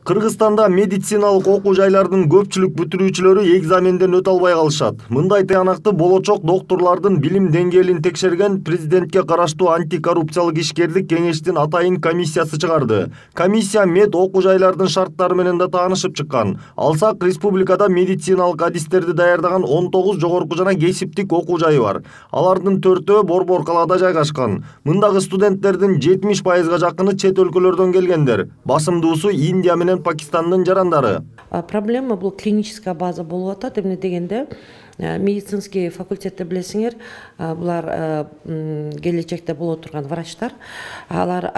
Кыргызстанда медициналык окуу жайлардын көпчүлүк бүтүрүүчүлөрү экзаменден өтө албай калышат. Мындай тыянакты болочок доктурлардын билим деңгээлин текшерген президентке караштуу антикоррупциялык ишкерлик кеңештин атайын комиссиясы чыгарды. Комиссия мед окуу жайлардын шарттары менен да таанышып чыккан. Алсак, республикада медициналык адистерди даярдаган 19 жогорку жана кесиптик окуу жайы бар. Алардын 4-өө Борбор калаада жайгашкан. Мындагы студенттердин 70%га жакыны чет өлкөлөрдөн келгендер. Басымдуусу Индия менен Пакистандын жарандары. Проблема бул клиническая база болуп атат. Эмне дегенде медицинский факультетте билесиңер, булар келечекте боло турган врачтар, алар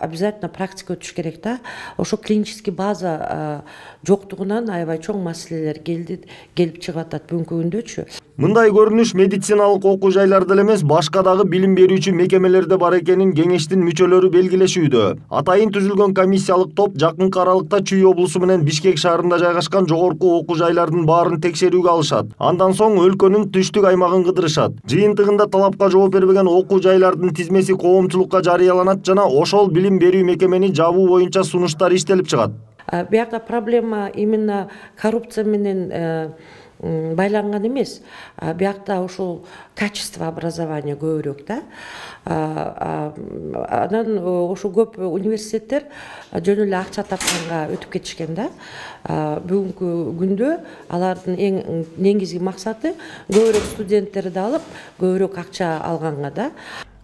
обязательно практика өтүш керек да. Ошо клинический база жоктугунан аябай чоң маселелер келип чыгып атат бүгүнкү күндөчү. Мындай көрүнүш медициналык окуу жайларда эмес, башка дагы билим берүүчү мекемелерде бар экенин кеңештин мүчөлөрү белгилешүүдө. Атайын түзүлгөн комиссиялык топ жакынкы аралыкта Чүй облусу менен Бишкек шаарында жайгашкан жогорку окуу жайлардын баарын текшерүүгө алышат. Андан соң өлкөнүн түштүк аймагын кыдырышат. Жыйынтыгында талапка жооп бербеген окуу жайлардын тизмеси коомчулукка жарыяланат жана ошол билим берүү мекемени жабуу боюнча сунуштар иштелип чыгат. Биякта проблема именно коррупция менен байланган эмес. Биякта ошол качество образования көбүрөөк да. Анан ошо көп университеттер жөн эле акча тапканга өтүп кетишкен да. Бүгүнкү күндө алардын эң негизги максаты көбүрөөк студенттерди алып, көбүрөөк акча алганга да.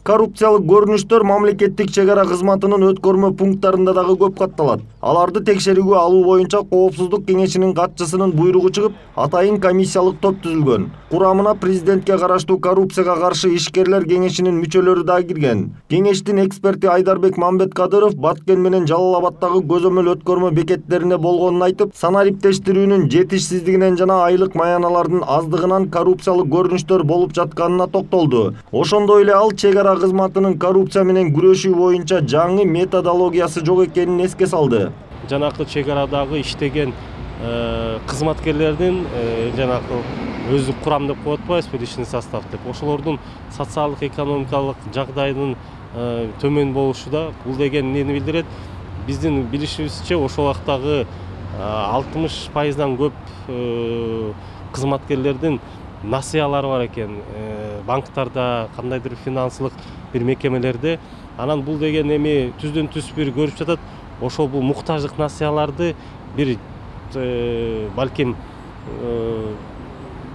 Коррупциялык көрүнүштөр мамлекеттик чек ара кызматынын өткөрмө пункттарында дагы көп катталат. Аларды текшерүүгө алуу боюнча Коопсуздук кеңешинин катчысынын буйругу чыгып, атайын комиссиялык топ түзүлгөн. Курамына президентке караштуу коррупцияга каршы ишкерлер кеңешинин мүчөлөрү да кирген. Кеңештин эксперти Айдарбек Мамбеткадыров Баткен менен Жалал Абадтагы көзөмөл өткөрмө бекеттерине болгонун айтып, санариптештирүүнүн жетишсиздигинен жана айлык маяналардын аздыгынан коррупциялык көрүнүштөр болуп жатканына токтолду. Ошондой эле ал чек ара кызматынын коррупция менен күрөшүү боюнча жаңы методологиясы жок экенин эске салды. Жанакы чек арадагы иштеген кызматкерлердин жанакы өздүк курам деп коет атпайбызбы, личный состав деп. Ошолордун социалдык экономикалык жагдайынын төмөн болушу да бул деген эмнени билдирет? Биздин билишибизче ошол вактагы 60%дан көп кызматкерлердин насыялары бар экен, банктарда, кандайдыр финансылык бир мекемелерде. Анан бул деген эми түздөн түз бир көрүп жатат. Ошол бул муктаждык насыяларды бир балким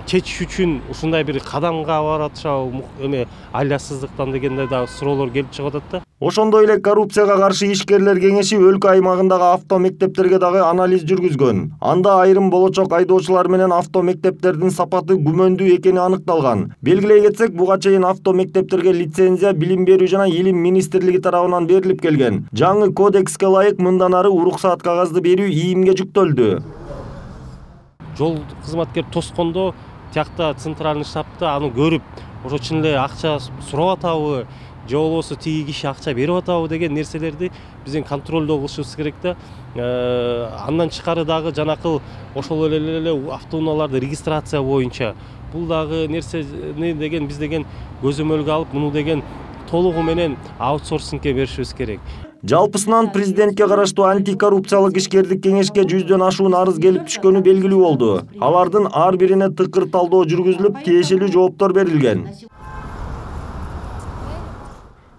чечиш үчүн ушундай бир кадамга баратышабы, эми айласыздыктан дегенде да суроолор келип чыгып атат да. Ошондой эле коррупцияга каршы ишкерлер кеңеши өлкө аймагындагы автомектептерге дагы анализ жүргүзгөн. Анда айрым болочок айдоочулар менен автомектептердин сапаты күмөндүү экени аныкталган. Белгилей кетсек, буга чейин автомектептерге лицензия Билим берүү жана Илим министрлиги тарабынан берилип келген. Жаңы кодекске ылайык мындан ары уруксаат кагазды берүү ИИМге жүктөлдү. Жол кызматкер тоскондо тиякта центральный штабта аны көрүп, ошо чын эле акча сурап атабы, же болбосо тиги киши акча берип атабы деген нерселерди биздин контролдоо кылышыбыз керек да. Андан тышкары дагы жанакыл ошол эле автоунааларды регистрация боюнча бул дагы нерсени деген биз деген көзөмөлгө алып, муну деген толугу менен аутсорсингке беришибиз керек. Жалпысынан президентке караштуу антикоррупциялык ишкерлик кеңешке 100дөн ашуун арыз келип түшкөнү белгилүү болду. Алардын ар бирине тыкыр талдоо жүргүзүлүп, тиешелүү жооптор берилген.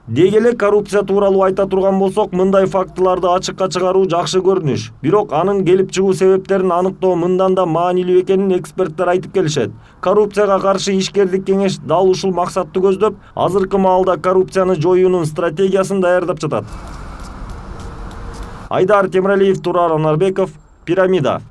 Деги эле коррупция тууралуу айта турган болсок, мындай фактыларды ачыкка чыгаруу жакшы көрүнүш. Бирок анын келип чыгуу себептерин аныктоо мындан да маанилүү экенин эксперттер айтып келишет. Коррупцияга каршы ишкерлик кеңеш дал ушул максатты көздөп, азыркы маалда коррупцияны жоюунун стратегиясын даярдап жатат. Айдар Темиралиев, Турар Анарбеков, Пирамида.